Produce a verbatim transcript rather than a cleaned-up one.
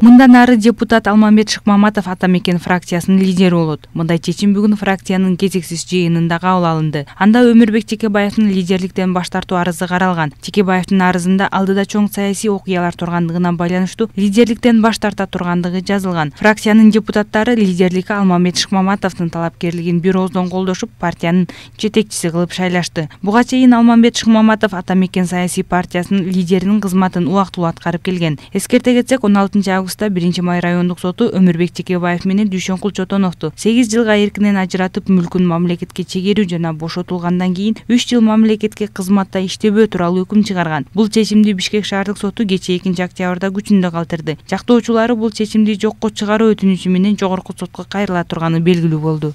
Мындан ары депутат Алмамбет Шыкмаматов ата мекен фракциясынын лидери болот. Мындай чечим бүгүн фракциянын кезексиз жыйынында кабыл алынды. Анда Өмүрбек Текебаевдин лидерликтен баш тартуу арызы каралган. Текебаевдин арызында алдыда чоң саясий окуялар тургандыгына байланыштуу лидерликтен баш тарта тургандыгы жазылган. Фракциянын депутаттары лидерликке Алмамбет Шыкмаматовдун талапкерлигин бир ооздон колдошуп, партиянын жетекчиси кылып шайлашты. Буга чейин Алмамбет Шыкмаматов ата мекен саясий партиясынын лидеринин кызматын убактылуу аткарып келген. Эскерте кетсек, он алтынчы августта биринчи май райондук соту Өмүрбек Текебаев менен Дүйшөнкул Чотоновду сегиз жылга эркинен ажыратып, мүлкүн мамлекетке чегерүү жана бошотулгандан кийин үч жыл мамлекетке кызматта иштебөө тууралуу өкүм чыгарган. Бул чечимди Бишкек шаардык соту кечээ экинчи октябрда күчүндө калтырды. Жактоочулары бул чечимди жокко чыгаруу өтүнүчү менен жогорку сотко кайрыла турганы белгилүү болду.